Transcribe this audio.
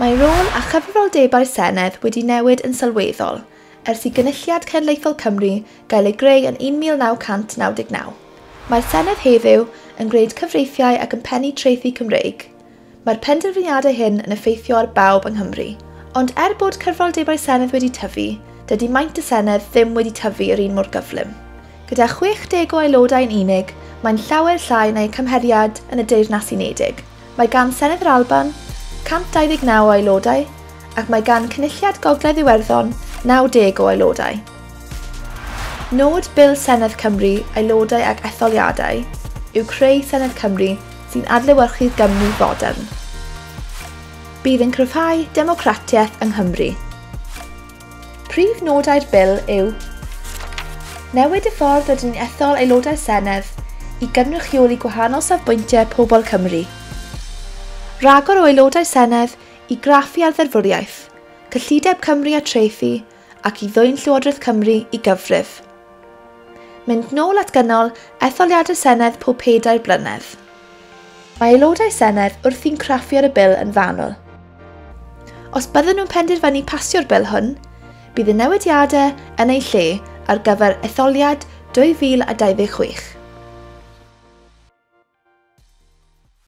Mae rôl a chyfrifoldebau'r Senedd wedi newid yn sylweddol ers i Gynulliad Cenedlaethol Cymru gael ei greu yn 1999. Mae'r Senedd heddiw yn gwneud cyfreithiau ac yn pennu trethi Cymreig. Mae'r penderfyniadau hyn yn effeithio ar bawb yng Nghymru. Ond er bod cyfrifoldebau'r Senedd wedi tyfu, dydy maint y Senedd ddim wedi tyfu yr un mor gyflym. Gyda 60 o aelodau yn unig, mae'n llawer llai na'i cymheriad yn y Deyrnas Unedig. Mae gan Senedd yr Alban 129 o aelodau ac mae gan Cynulliad Gogledd Iwerddon 90 o aelodau. Nod Bil Senedd Cymru, Aelodau ac Etholiadau yw creu Senedd Cymru sy'n adlewyrchu'r Gymru fodern. Bydd yn cryfhau democratiaeth yng Nghymru. Prif nodau'r Bil yw newid y ffordd rydyn ni'n ethol aelodau'r Senedd i gynrychioli gwahanol safbwyntiau pobl Cymru. Rhagor o aelodau Senedd i graffu ar ddeddfwriaeth, cyllideb Cymru a trethi ac i ddwyn Llywodraeth Cymru i gyfrif. Mynd nôl at gynnal etholiadau'r Senedd pob 4 blynedd. Mae aelodau Senedd wrthi'n craffu ar y bil yn fanwl. Os bydden nhw'n penderfynu pasio'r bil hwn, bydd y newidiadau yn eu lle ar gyfer etholiad 2026.